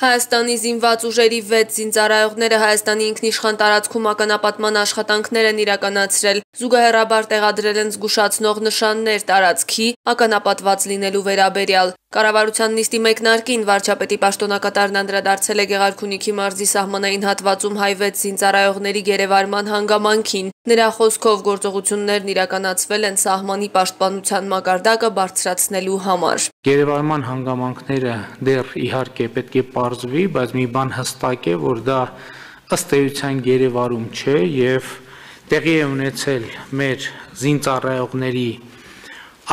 Հայաստանի զինված ուժերի 6 զինծառայողները Հայաստանի ինքնիշխան տարածքում ականապատման աշխատանքներ են իրականացրել, զուգահեռաբար տեղադրել են զգուշացնող նշաններ տարածքի ականապատված լինելու վերաբերյալ։ Կառավարության նիստի մեկնարկին վարչապետի պաշտոնակատարն անդրադարձել է Գեղարքունիքի մարզի սահմանային հատվածում հայ 6 զինծառայողների գերեվարման հանգամանքին։ Նրա խոսքով գործողություններն իրականացվել են սահմանի պաշտպանության մակարդակը բարձրացնելու համար։ Գերեվարման հանգամանքները դեռ իհարկե պետք է պարզվի, բայց մի բան հստակ է, որ դա ըստ էության գերեվարում չէ եւ տեղի է ունեցել մեր զինծառայողների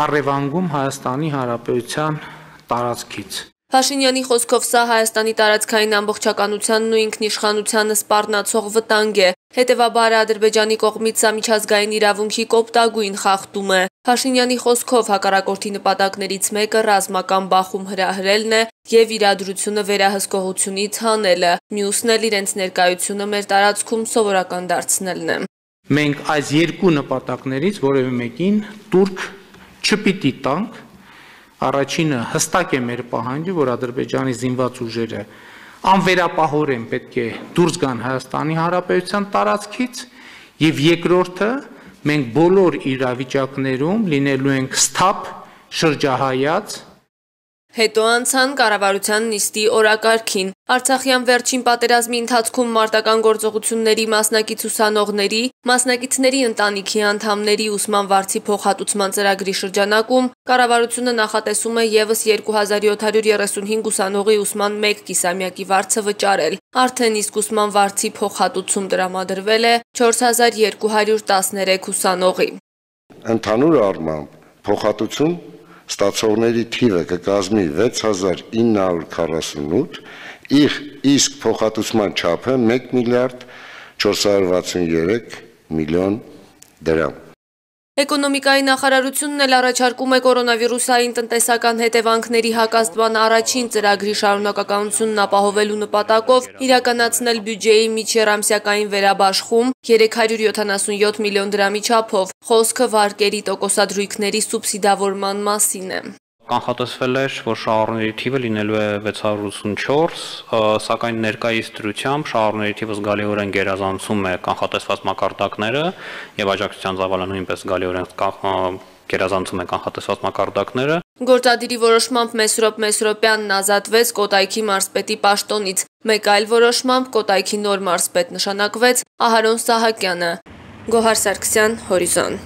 առևանգում Հայաստանի Հանրապետության տարածքից։ Փաշինյանի խոսքով սա Հայաստանի տարածքային ամբողջականությանն ու ինքնիշխանությանը սպառնացող վտանգ է, հետևաբար Ադրբեջանի կողմից սա միջազգային իրավունքի կոպտագույն խախտում է։ Փաշինյանի խոսքով հակառակորդի նպատակներից մեկը ռազմական բախում հրահրելն է եւ իրադրությունը վերահսկողությունից հանելը, մյուսն էլ իրենց ներկայությունը մեր տարածքում սովորական դարձնելն է։ Մենք այս երկու նպատակներից որևէ մեկին տուրք չպիտի տանք։ Առաջինը հստակ է մեր պահանջը, որ Ադրբեջանի զինված ուժերը անվերապահորեն պետք է դուրս գան Հայաստանի Հանրապետության տարածքից, եւ երկրորդը մենք բոլոր իրավիճակներում լինելու ենք սթափ շրջահայաց։ Հետո անցան կառավարության նիստի օրակարգին։ Արցախյան վերջին պատերազմի ընթացքում մարտական գործողությունների մասնակից ուսանողների, մասնակիցների ընտանիքի անդամների ուսման վարձի փոխհատուցման ծրագրի շրջանակում կառավարությունը նախատեսում է եւս 2735 ուսանողի ուսման 1 կիսամյակի վարձը վճարել։ Արդեն իսկ ուսման վարձի փոխհատուցում տրամադրվել է 4213 ուսանողի։ Ընդհանուր առմամբ փոխհատուցում ստացողների թիվը կկազմի 6948, իսկ փոխհատուցման չափը 1 միլիարդ 463 միլիոն դրամ։ Էկոնոմիկայի նախարարությունն էլ առաջարկում է կորոնավիրուսային տնտեսական հետևանքների հակազդման առաջին ծրագրի շարունակականությունն ապահովելու նպատակով իրականացնել բյուջեի միջերամսյակային վերաբաշխում 377 միլիոն դրամի չափով, խոսքը վարկերի տոկոսադրույքների սուբսիդավորման մասին է։ Կանխատեսվել էր, որ շահառուների թիվը լինելու է 684, սակայն ներկայիս դրությամբ շահառուների թիվը զգալիորեն գերազանցում է կանխատեսված մակարդակները եւ աջակցության ծավալը նույնպես զգալիորեն գերազանցում է կանխատեսված մակարդակները։ Գործադիրի որոշմամբ Մեսրոպ Մեսրոպյանն ազատվեց Կոտայքի մարզպետի պաշտոնից, մեկ այլ որոշմամբ Կոտայքի նոր մարզպետ նշանակվեց Ահարոն Սահակյանը։ Գոհար Սարգսյան, Հորիզոն։